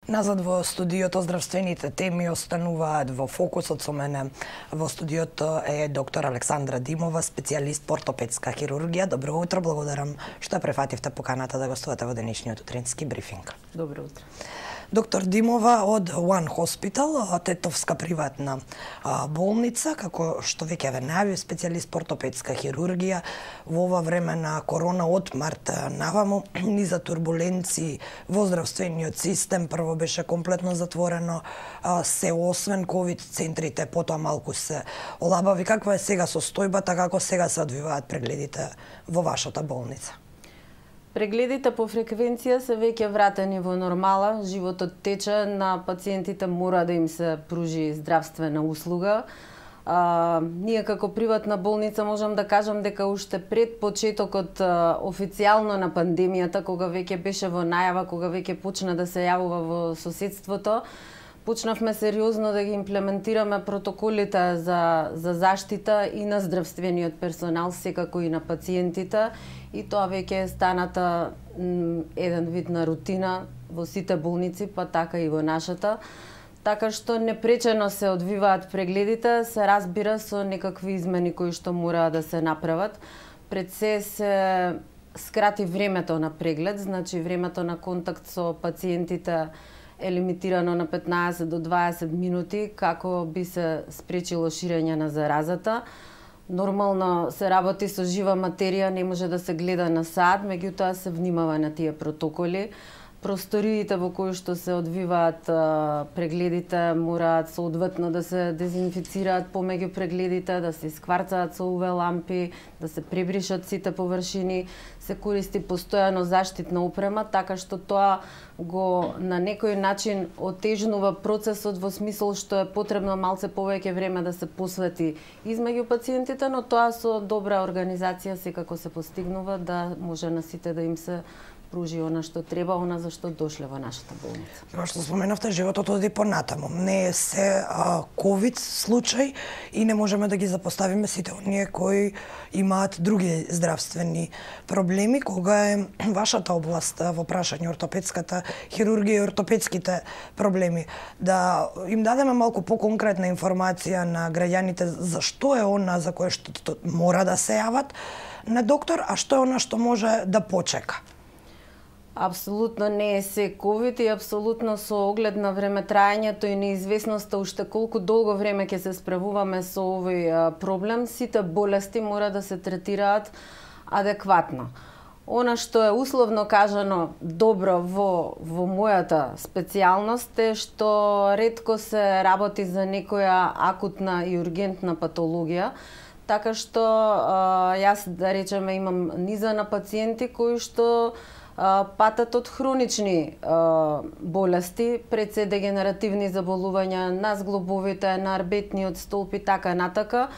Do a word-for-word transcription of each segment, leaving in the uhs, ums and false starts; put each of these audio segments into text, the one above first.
Назад во студиото здравствените теми остануваат во фокусот. Со мене во студиото е доктор Александра Димова, специјалист по ортопедска хирургија. Добро утро, благодарам што префативте поканата да гостувате во денешниот утрински брифинг. Добро утро. Доктор Димова од One Hospital, тетовска приватна болница, како што веќе ве најави, специјалист по ортопедска хирургија. Во ова време на корона од март наваму, низа турбуленции во здравствениот систем, прво беше комплетно затворено, се освен ковид центрите, потоа малку се олабави. Каква е сега состојбата, како сега се одвиваат прегледите во вашата болница? Прегледите по фреквенција се веќе вратени во нормала, животот тече, на пациентите мора да им се пружи здравствена услуга. А, ние како приватна болница можам да кажам дека уште пред почетокот а, официјално на пандемијата, кога веќе беше во најава, кога веќе почна да се јавува во соседството, почнавме сериозно да ги имплементираме протоколите за, за заштита и на здравствениот персонал, секако и на пациентите. И тоа веќе е станата м, еден вид на рутина во сите болници, па така и во нашата. Така што непречено се одвиваат прегледите, се разбира со некакви измени кои што мора да се направат. Пред се се скрати времето на преглед, значи времето на контакт со пациентите е лимитирано на петнаесет до дваесет минути, како би се спречило ширење на заразата. Нормално се работи со жива материја, не може да се гледа на саат, меѓутоа се внимава на тие протоколи. Просториите во кои што се одвиваат а, прегледите мораат соодветно да се дезинфицираат помеѓу прегледите, да се искварцаат со УВ лампи, да се пребришат сите површини, се користи постојано заштитна опрема, така што тоа го на некој начин отежнува процесот во смисол што е потребно малце повеќе време да се посвети измеѓу пациентите, но тоа со добра организација секако се постигнува да може на сите да им се пружи она што треба, она за што дошле во нашата болница. Како што споменавте, животот оди понатаму. Не е се а, ковид случај и не можеме да ги запоставиме сите оние кои имаат други здравствени проблеми. Кога е вашата област во прашање ортопедската хирургија и ортопедските проблеми, да им дадеме малку поконкретна информација на граѓаните за што е она за кое што мора да се јават на доктор, а што е она што може да почека? Апсолутно не е се ковид и апсолутно со оглед на времетраењето и неизвестноста уште колку долго време ќе се справуваме со овој проблем, сите болести мора да се третираат адекватно. Она што е условно кажано добро во, во мојата специјалност е што ретко се работи за некоја акутна и ургентна патологија, така што а, јас да речеме имам низа на пациенти кои што патат од хронични а, болести, пред се дегенеративни заболувања на зглобовите, на арбетниот столб и така натака,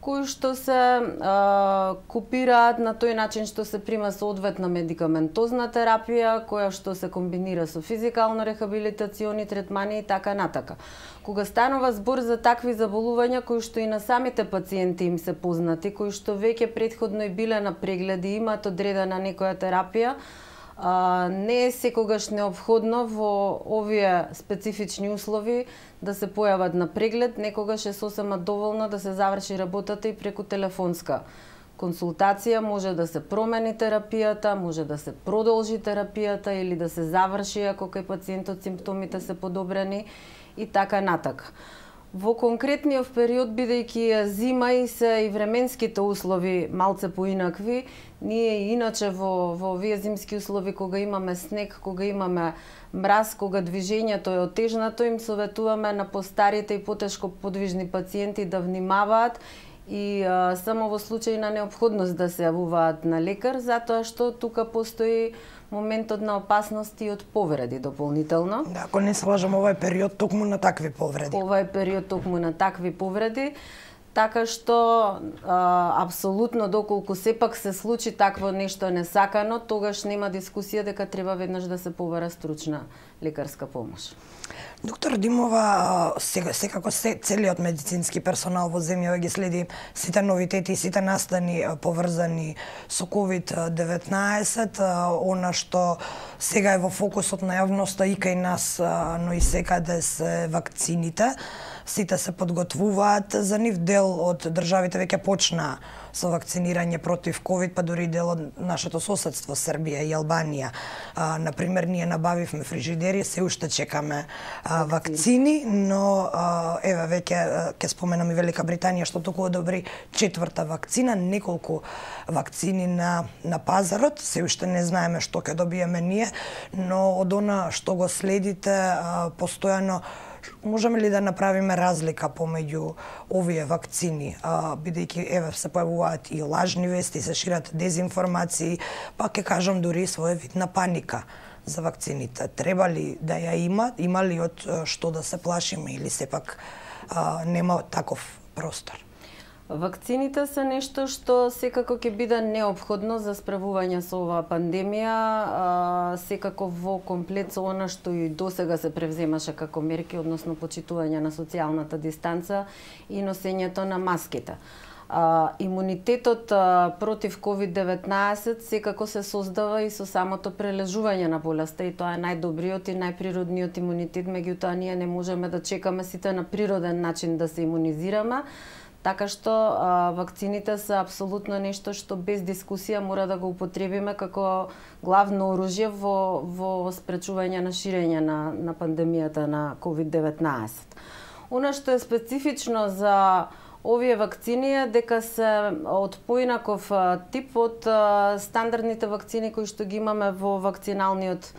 кои што се а, купираат на тој начин што се прима соодветна медикаментозна терапија, која што се комбинира со физикално-рехабилитациони третмани и така натака. Кога станува збор за такви заболувања кои што и на самите пациенти им се познати, кои што веќе претходно и биле на прегледи, имаат одредена некоја терапија, А, не е секогаш неопходно во овие специфични услови да се појават на преглед, некогаш е сосема доволно да се заврши работата и преку телефонска консултација, може да се промени терапијата, може да се продолжи терапијата или да се заврши ако кај пациентот симптомите се подобрени и така натака. Во конкретниот период, бидејќи е зима и се и временските услови малце поинакви, ние иначе во, во овие зимски услови, кога имаме снег, кога имаме мраз, кога движењето е отежнато, им советуваме на постарите и потешко подвижни пациенти да внимаваат и а, само во случај на неопходност да се јавуваат на лекар, затоа што тука постои моментот на опасност и од повреди дополнително. Да, ако не се лажам, ова е период токму на такви повреди. Ова е период токму на такви повреди, така што а, апсолутно доколку сепак се случи такво нешто несакано, тогаш нема дискусија дека треба веднаш да се побара стручна лекарска помош. Доктор Димова, сега секако се, целиот медицински персонал во земјава ги следи сите новитети, сите настани поврзани со ковид деветнаесет, она што сега е во фокусот на јавноста и кај нас, но и секаде се вакцините. Сите се подготвуваат за нив, дел од државите веќе почна со вакцинирање против ковид, па дури дел од нашето соседство Србија и Албанија. А, например, ние набавивме фрижидери, се уште чекаме а, вакцини, но а, еве веќе ќе споменам и Велика Британија што толку одобри четврта вакцина, неколку вакцини на на пазарот, се уште не знаеме што ќе добиеме ние, но од она што го следите а, постојано, можеме ли да направиме разлика помеѓу овие вакцини, бидејќи еве се појавуваат и лажни вести, се шират дезинформации, па ќе кажам дури свој вид на паника за вакцините. Треба ли да ја има, има ли од што да се плашиме или сепак а, нема таков простор? Вакцините се нешто што секако ќе биде неопходно за справување со оваа пандемија, а, секако во комплет со она што и досега се превземаше како мерки, односно почитување на социјалната дистанца и носењето на маските. А, имунитетот а, против ковид деветнаесет секако се создава и со самото прележување на болеста, и тоа е најдобриот и најприродниот имунитет, меѓутоа ние не можеме да чекаме сите на природен начин да се имунизираме. Така што а, вакцините се апсолутно нешто што без дискусија мора да го употребиме како главно оружје во, во спречување на ширење на, на пандемијата на ковид деветнаесет. Она што е специфично за овие вакцини е дека се од поинаков тип од а, стандардните вакцини кои што ги имаме во вакциналниот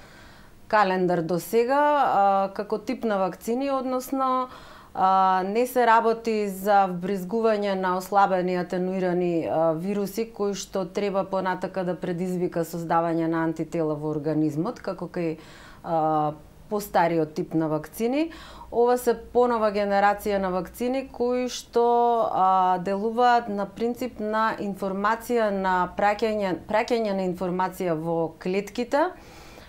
календар до сега, а, како тип на вакцини, односно Uh, не се работи за вбризгување на ослабени атенуирани uh, вируси кои што треба понатака да предизвика создавање на антитела во организмот, како кај uh, постариот тип на вакцини. Ова се понова генерација на вакцини кои што uh, делуваат на принцип на информација, на праќање, праќање на информација во клетките,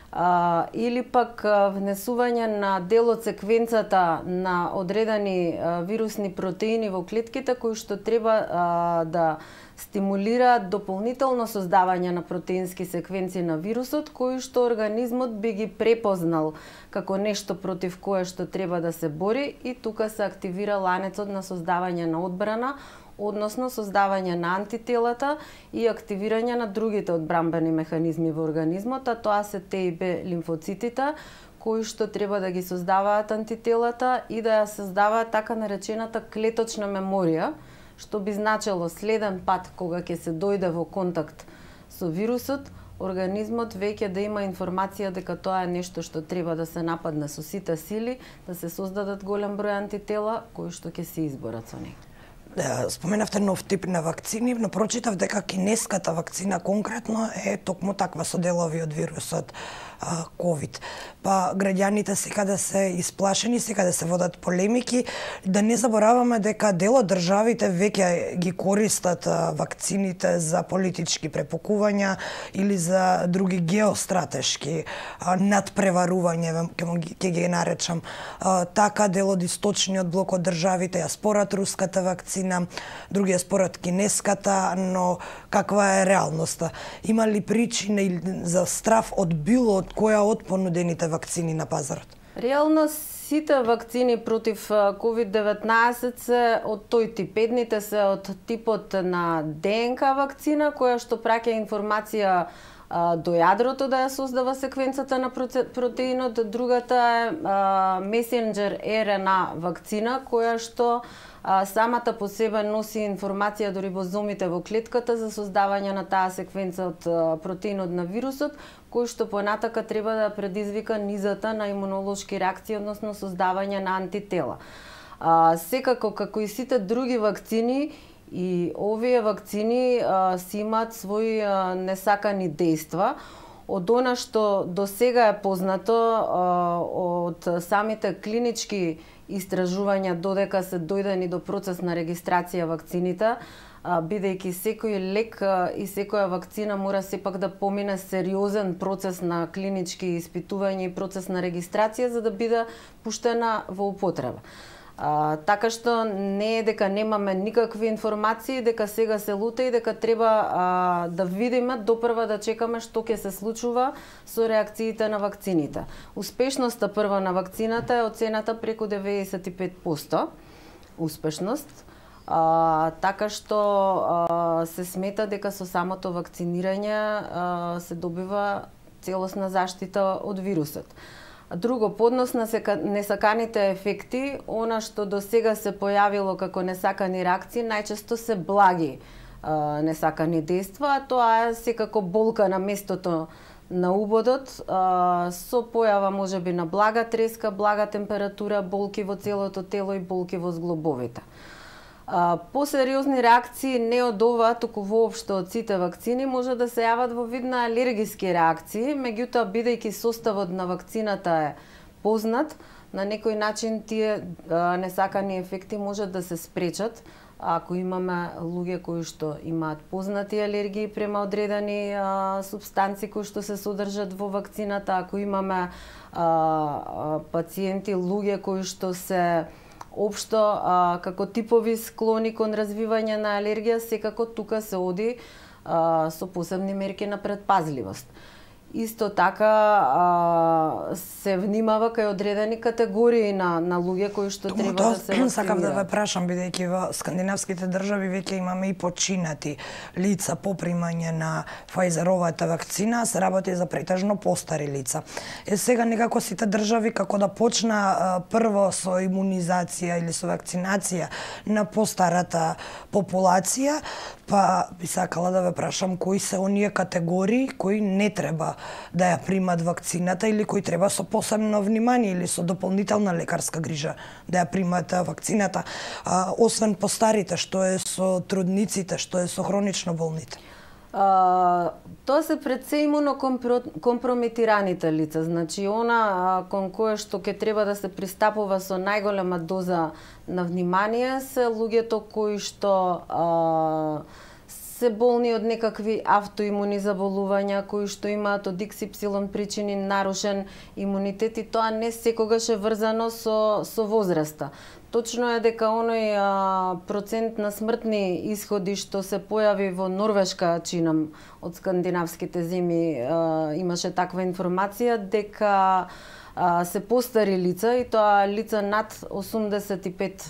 Uh, или пак uh, внесување на дел од секвенцата на одредени uh, вирусни протеини во клетките кои што треба uh, да стимулираат дополнително создавање на протеински секвенции на вирусот кои што организмот би ги препознал како нешто против кое што треба да се бори, и тука се активира ланецот на создавање на одбрана, односно создавање на антителата и активирање на другите одбрамбени механизми во организмот, а тоа се Т и Б лимфоцитите, кои што треба да ги создаваат антителата и да ја создаваат така наречената клеточна меморија, што би значело следен пат кога ќе се дојде во контакт со вирусот, организмот веќе да има информација дека тоа е нешто што треба да се нападне со сите сили, да се создадат голем број антитела кои што ќе се изборат со него. Споменавте нов тип на вакцини, но прочитав дека кинеската вакцина конкретно е токму таква со делови од вирусот ковид. Па граѓаните секаде се исплашени, секаде се водат полемики. Да не забораваме дека дел од државите веќе ги користат вакцините за политички препокувања или за други геостратешки надпреварување, ќе ги наречам. Така дел од источниот блок од државите ја спорат руската вакцина, други ја спорат кинеската, но каква е реалноста? Има ли причина за страф од било од која од понудените вакцини на пазарот? Реално сите вакцини против ковид деветнаесет се од тој тип. Едните се од типот на ДНК вакцина, која што праќа информација до јадрото да ја создава секвенцата на протеинот. Другата е месенџер Р Н А вакцина, која што самата по себе носи информација до рибозомите во клетката за создавање на таа секвенца од протеинот на вирусот, кој што понатака треба да предизвика низата на имунолошки реакции, односно создавање на антитела. А, секако, како и сите други вакцини, и овие вакцини а, си имаат своји а, несакани дејства. Од она што до сега е познато од самите клинички истражувања додека се дојдени до процес на регистрација вакцините, бидејќи секој лек и секоја вакцина мора сепак да помине сериозен процес на клинички испитувања и процес на регистрација за да биде пуштена во употреба. А, така што не е дека немаме никакви информации, дека сега се лута и дека треба а, да видиме, допрва да чекаме што ќе се случува со реакциите на вакцините. Успешноста прва на вакцината е оцената преку деветдесет и пет проценти успешност. А, така што а, се смета дека со самото вакцинирање а, се добива целосна заштита од вирусот. Друго, поднос на несаканите ефекти, она што до сега се појавило како несакани реакции, најчесто се благи а, несакани дејства, а тоа е секако болка на местото на убодот, а, со појава можеби на блага треска, блага температура, болки во целото тело и болки во зглобовите. Посериозни реакции не од ова, туку воопшто од сите вакцини може да се јават во вид на алергиски реакции, меѓутоа бидејќи составот на вакцината е познат, на некој начин тие а, несакани ефекти можат да се спречат ако имаме луѓе кои што имаат познати алергии према одредени а, субстанции кои што се содржат во вакцината, ако имаме а, а, пациенти, луѓе кои што се општо а, како типови склони кон развивање на алергија, секако тука се оди а, со посебни мерки на предпазливост. Исто така а, се внимава кај одредени категории на, на луѓе кои што Тому треба тоа, да се вакцинираат. Сакав да ве прашам, бидејќи во скандинавските држави веќе имаме и починати лица по примање на Фајзеровата вакцина, се работи за претежно постари лица. Е сега некако сите држави како да почна а, прво со имунизација или со вакцинација на постарата популација, па би сакала да ве прашам кои се оние категории кои не треба да ја примат вакцината или кои треба со посебно внимание или со дополнителна лекарска грижа да ја примат вакцината, а, освен постарите, што е со трудниците, што е со хронично болните? А, тоа се пред се имунокомпрометираните лица, значи она а, кон кое што ќе треба да се пристапува со најголема доза на внимание се луѓето кои што а, се болни од некакви автоимуни заболувања, кои што имаат од икс ипсилон причини нарушен имунитет и тоа не секогаш е врзано со, со возраста. Точно е дека оној а, процент на смртни исходи што се појави во Норвешка, чинам, од скандинавските земји, а, имаше таква информација дека а, се постари лица и тоа лица над осумдесет и пет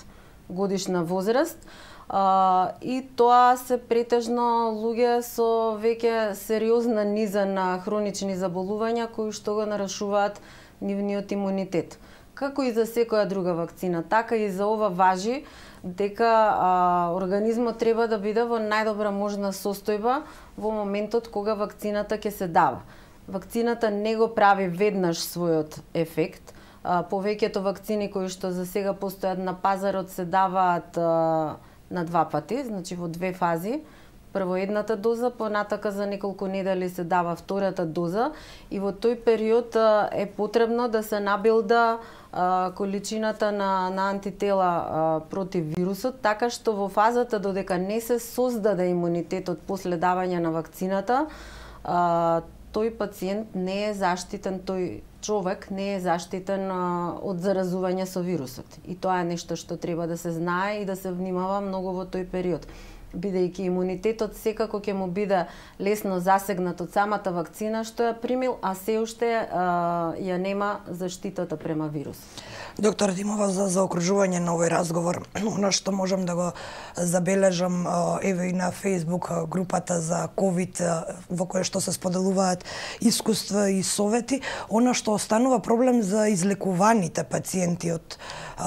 годишна возраст, Uh, и тоа се претежно луѓе со веќе сериозна низа на хронични заболувања кои што го нарушуваат нивниот имунитет. Како и за секоја друга вакцина, така и за ова важи дека а, организмот треба да биде во најдобра можна состојба во моментот кога вакцината ќе се дава. Вакцината не го прави веднаш својот ефект. А, повеќето вакцини кои што за сега постојат на пазарот се даваат а, на два пати, значи во две фази. Прво едната доза, понатака за неколку недели се дава втората доза и во тој период а, е потребно да се набилда а, количината на, на антитела а, против вирусот, така што во фазата додека не се создаде имунитетот после давање на вакцината, а, тој пациент не е заштитен, тој човек не е заштитен а, од заразување со вирусот. И тоа е нешто што треба да се знае и да се внимава многу во тој период. Бидејќи имунитетот секако ќе му биде лесно засегнат од самата вакцина што ја примил, а се уште а, ја нема заштитата према вирус. Доктор Димова, за заокружување на овој разговор, она што можам да го забележам еве и на Facebook групата за ковид во која што се споделуваат искуства и совети, она што останува проблем за излекуваните пациенти од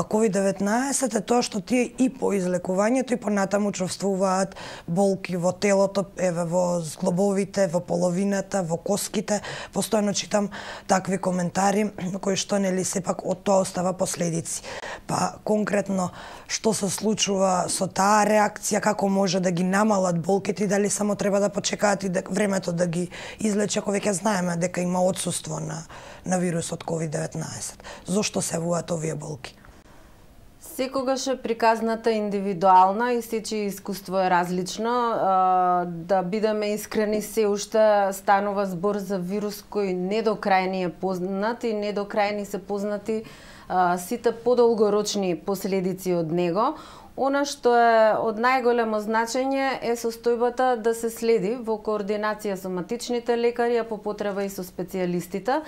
ковид деветнаесет е тоа што тие и по излекувањето и понатаму чувствуваат болки во телото, еве во зглобовите, во половината, во коските. Постојано читам такви коментари кои што нели сепак од тоа остава последици. Па конкретно што се случува со таа реакција, како може да ги намалат болките и дали само треба да почекаат и да, времето да ги излече, ако веќе знаеме дека има отсуство на, на вирусот ковид деветнаесет. Зошто се явуваат овие болки? Секогаш е приказната индивидуална и сечи искуство е различно. Да бидеме искрени, се уште станува збор за вирус кој не до крај ни е познат и не до крај ни се познати сите подолгорочни последици од него. Она што е од најголемо значење е состојбата да се следи во координација со матичните лекари, а по потреба и со специјалистите.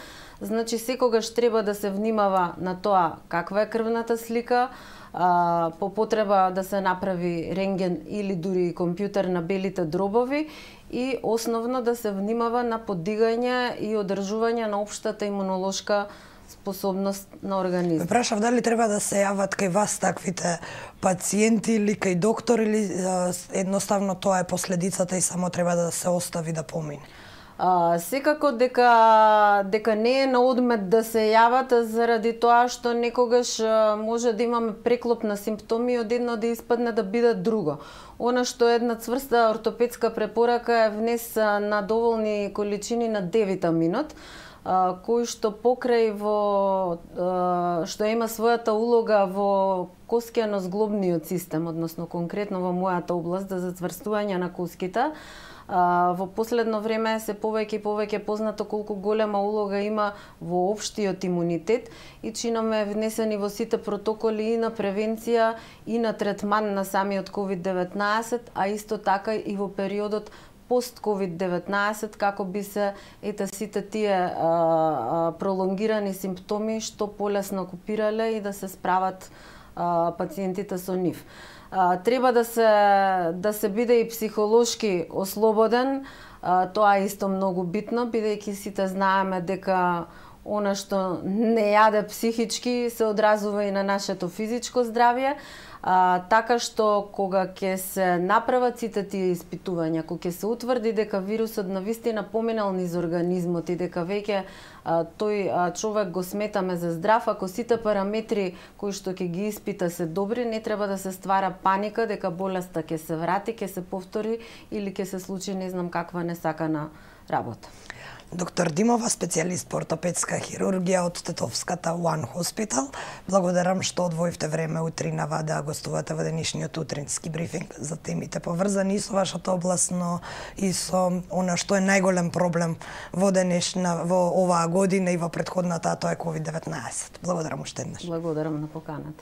Значи, секогаш треба да се внимава на тоа каква е крвната слика, а, по потреба да се направи рентген или дури компјутер на белите дробови и основно да се внимава на подигање и одржување на општата имунолошка способност на организмот. Прашав дали треба да се јават кај вас таквите пациенти или кај доктор или едноставно тоа е последицата и само треба да се остави да помине. А, секако дека дека не е на одмет да се јават заради тоа што некогаш може да имаме преклоп на симптоми и од едно да испадне да биде друго. Она што е една цврста ортопедска препорака е внес на доволни количини на Д витаминот, кој што покрај во што има својата улога во коскијано-зглобниот систем, односно конкретно во мојата област за зацврстување на коските. Во последно време се повеќе и повеќе познато колку голема улога има во општиот имунитет и чинаме внесени во сите протоколи и на превенција и на третман на самиот ковид деветнаесет, а исто така и во периодот пост ковид деветнаесет, како би се ете сите тие а, а, пролонгирани симптоми што полесно копирале и да се справат а, пациентите со нив. А, треба да се да се биде и психолошки ослободен, а, тоа е исто многу битно, бидејќи сите знаеме дека она што не јаде психички се одразува и на нашето физичко здравје. А, така што кога ќе се направат сите тие испитувања, кога ќе се утврди дека вирусот навистина поминал низ организмот и дека веќе а, тој а, човек го сметаме за здрав, ако сите параметри кои што ќе ги испита се добри, не треба да се ствара паника дека болеста ќе се врати, ќе се повтори или ќе се случи не знам каква несакана работа. Доктор Димова, специјалист по ортопедска хирургија од Тетовската One Hospital. Благодарам што одвоивте време утринава да гостувате во денешниот утрински брифинг за темите поврзани со вашата област, но и со она што е најголем проблем во денешна, во оваа година и во претходната, а тоа е ковид деветнаесет. Благодарам уште еднаш. Благодарам на поканата.